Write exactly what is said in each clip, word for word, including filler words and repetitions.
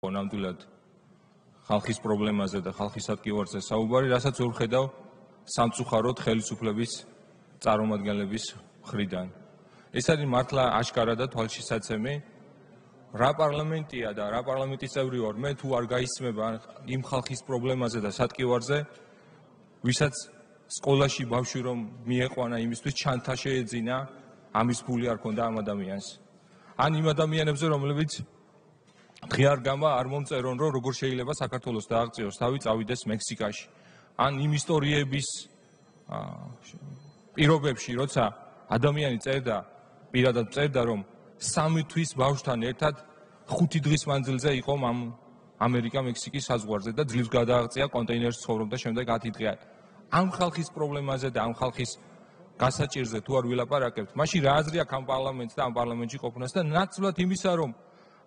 ნამდვილად ხალხის პრობლემაზე და ხალხის ატკივარზე საუბარი, რასაც ვერ ვხედავ სამწუხაროდ ხელისუფლების წარმომადგენლების მხრიდან. ეს არის მართლა აშკარა და თვალშისაცემი, რა პარლამენტია და რა პარლამენტის წევრი ვარ მე, თუ არ გაისმება იმ ხალხის პრობლემაზე და სატკივარზე, ვისაც სკოლაში ბავშვი რომ მიეყვანა იმისთვის ჩანთა შეეძინა, ამის ფული არ ქონდა ამ ადამიანს. ან იმ ადამიანებზე, რომლებიც ღიარ გამა არ მომწერონ, რომ როგორ შეიძლება საქართველოს დააღწიოს თავი, წავიდეს მექსიკაში. ან იმ ისტორიების პირობებში, როცა ადამიანი წერდა, პირადად წერდა, რომ სამი თვის ბავშვთან ერთად ხუთი დღის მანძილზე იყო ამ ამერიკა-მექსიკის საზღვარზე და ძლივს გადააღწია კონტეინერში ცხოვრობდა შემდეგ ათი დღე. ამ ხალხის პრობლემაზე და ამ ხალხის გასაჭირზე თუ არ ვილაპარაკებთ, მაშინ რა აზრი აქვს ამ პარლამენტს და ამ პარლამენტში ყოფნას და ნაცვლად იმისა, რომ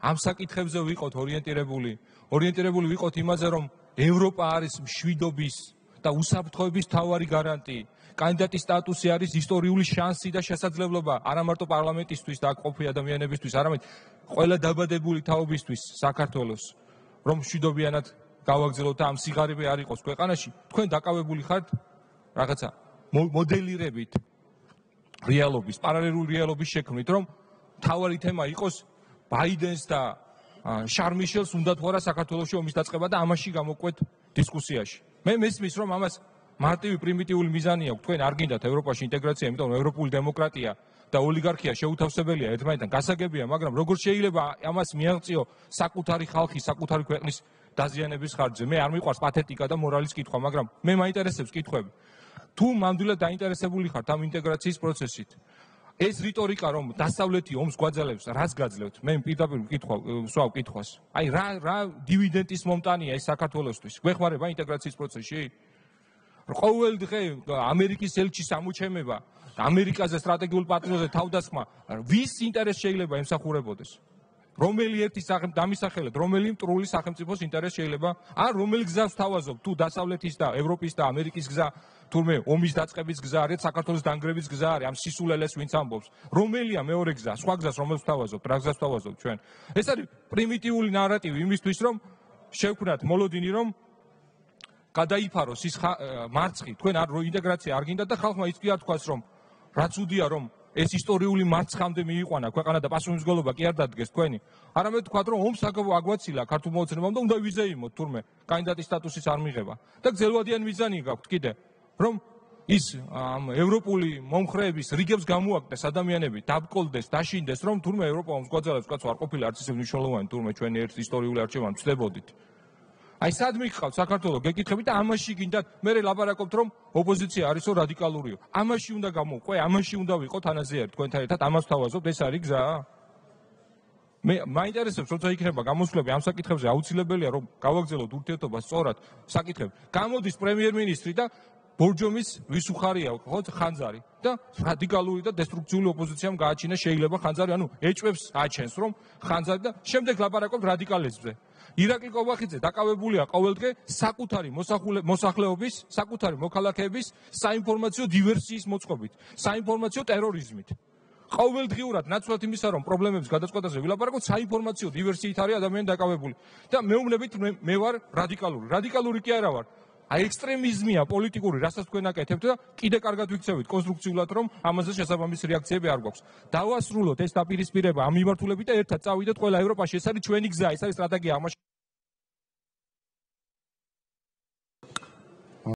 ამ საკითხებზე ვიყოთ ორიენტირებული, ორიენტირებული ვიყოთ იმაზე, რომ ევროპა არის მშვიდობის და უსაფრთხოების მთავარი გარანტი. კანდიდატის სტატუსი არის ისტორიული შანსი და შესაძლებლობა არა მარტო პარლამენტისთვის და აქ ყოფილი ადამიანებისთვის, არამედ ყველა დაბადებული თაობისთვის საქართველოს, რომ მშვიდობიანად გავაგრძელოთ და ამ სიღარიბე არ იყოს ქვეყანაში. თქვენ დაკავებული ხართ რაღაცა მოდელირებით რეალობის, პარალელური რეალობის შექმნით, რომ მთავარი თემა იყოს ბაიდენს და შარლ მიშელს უნდა თუ არა საქართველოში ომის დაწყება და ამაში გამოკვეთ დისკუსიაში. მე მესმის, რომ ამას მარტივი პრიმიტიული მიზანი აქვს. თქვენ არ გინდათ ევროპაში ინტეგრაცია, იმიტომ რომ ევროპული დემოკრატია და ოლიგარქია შეუთავსებელია ერთმანეთთან, გასაგებია, მაგრამ როგორ შეიძლება ამას მიაღწიო საკუთარი ხალხის, საკუთარი ქვეყნის დაზიანების ხარჯზე? მე არ მიყვარს პათეტიკა და მორალის კითხვა, მაგრამ მე მაინტერესებს კითხვები. თუ მამდვილად დაინტერესებული ხართ ამ ინტეგრაციის პროცესით, ეს რიტორიკა, რომ დასავლეთი ომს გვაძლევს, რას გაძლევთ? მე პირდაპირ ვკითხავ, ვსვავ კითხვას. აი რა რა დივიდენდის მომტანია ეს საქართველოსთვის? გვეხმარება ინტეგრაციის პროცესში? ყოველ დღე ამერიკის ელჩის ამოჩემება, ამერიკაზე სტრატეგიულ პარტნიორზე თავდასხმა, ვის ინტერესს შეიძლება ემსახურებოდეს? რომელი ერთი დამისახელეთ, რომელი მტრული სახელმწიფოს ინტერესს შეიძლება, ან რომელი გზას თავაზობ, თუ დასავლეთის და ევროპის და ამერიკის გზა, თურმე ომის დაწყების გზა არის, საქართველოს დანგრევის გზა არის, ამ სისულელეს ვინც ამბობს. რომელია მეორე გზა, სხვა გზას რომელს თავაზობთ, რა გზას თავაზობთ ჩვენ? ეს არის პრიმიტიული ნარატივი იმისთვის, რომ შევქმნათ მოლოდინი, რომ გადაიფაროს ის მარცხი, თქვენ არ ინტეგრაცია არ გინდათ და ხალხმა ის კი არ თქვას, რომ რაც უდია, რომ ეს ისტორიული მარცხამდე მიიყვანა ქვეყანა და პასუხისმგებლობა კი არ დადგეს თქვენი. არამედ თქვათ, რომ ომს აგვაცილა ქართულ მოცემამ და უნდა ვიზეიმოთ თურმე კანდიდატის სტატუსის არ მიღება. და გრძელვადიანი მიზანი გაქვთ კიდე, რომ ის ამ ევროპული მომხრეების რიგებს გამოაკდეს ადამიანები, დაბკოლდეს, დაშინდეს, რომ თურმე ევროპა ომს გვაძლევს, კაცო არ ყოფილა არც ისე მნიშვნელოვანი, თურმე ჩვენი ერთ ისტორიული არჩევანი ვწდებოდით. აი სად მიგყავთ საქართველოს გეკითხებით და ამაში გინდათ მე ლაპარაკობთ, რომ ოპოზიცია არისო რადიკალურიო. ამაში უნდა გამოვყვე, ამაში უნდა ვიყოთ ანაზიერი თქვენთან ერთად, ამას თავაზობთ, ეს არის გზა? მე მაინტერესებს, როცა იქნება გამოსვლები ამ საკითხებზე, აუცილებელია რომ გავაგრძელოთ ურთიერთობა სწორად საკითხები. გამოდის პრემიერ-მინისტრი და ბორჯომის ვის უხარია ხო ხანძარი და რადიკალური და დესტრუქციული ოპოზიციამ გააჩინა შეიძლება ხანძარი, ანუ ეჭვებს აჩენს, რომ ხანძარი და შემდეგ ლაპარაკობთ რადიკალიზმზე. ირაკლი კობახიძე დაკავებულია ყოველდღე საკუთარი მოსახლეობის, საკუთარი მოქალაქეების საინფორმაციო დივერსიის მოწყობით, საინფორმაციო ტერორიზმით. ყოველდღიურად ნაცვლად იმისა, რომ პრობლემების გადაწყვეტაზე ვილაპარაკოთ, საინფორმაციო დივერსიით არის ადამიანი დაკავებული. და მეუბნებით მე ვარ რადიკალური. რადიკალური კი არა ვარ. აი ექსტრემიზმია პოლიტიკური, რასაც თქვენ აკეთებთ და კიდე კარგად ვიქცევით კონსტრუქციულად, რომ ამაზე შესაბამისი რეაქციები არ გვაქვს. დავასრულოთ ეს დაპირისპირება ამ მიმართულებით და ერთად წავიდეთ ყველა ევროპაში. ეს არის ჩვენი გზა, ეს არის სტრატეგია.